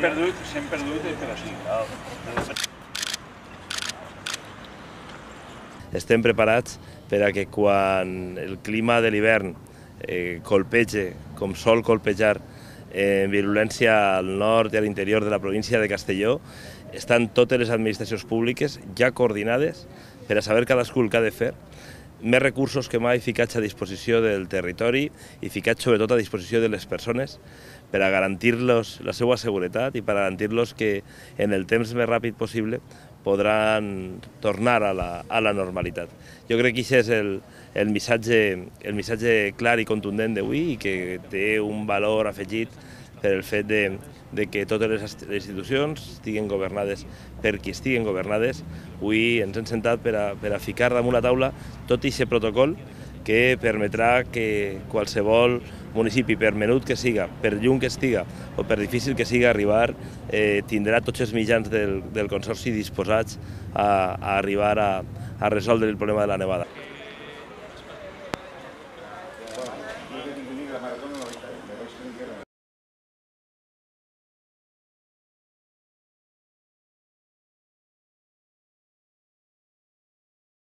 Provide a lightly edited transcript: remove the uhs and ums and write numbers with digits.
perdut per així. Estem preparats per a que quan el clima de l'hivern colpege, com sol colpejar, virulència al nord i a l'interior de la província de Castelló, estan totes les administracions públiques ja coordinades per a saber cadascú el que ha de fer, més recursos que mai ficats a disposició del territori i ficats sobretot a disposició de les persones per a garantir-los la seva seguretat i per a garantir-los que en el temps més ràpid possible podran tornar a la normalitat. Jo crec que aquest és el missatge clar i contundent d'avui i que té un valor afegit per el fet de que totes les institucions estiguin governades per qui estiguin governades. Avui ens hem sentat per a ficar damunt la taula tot aquest protocol que permetrà que qualsevol municipi, per menut que siga, per lluny que estiga o per difícil que siga arribar, tindrà tots els mitjans del Consorci disposats a arribar a resoldre el problema de la nevada.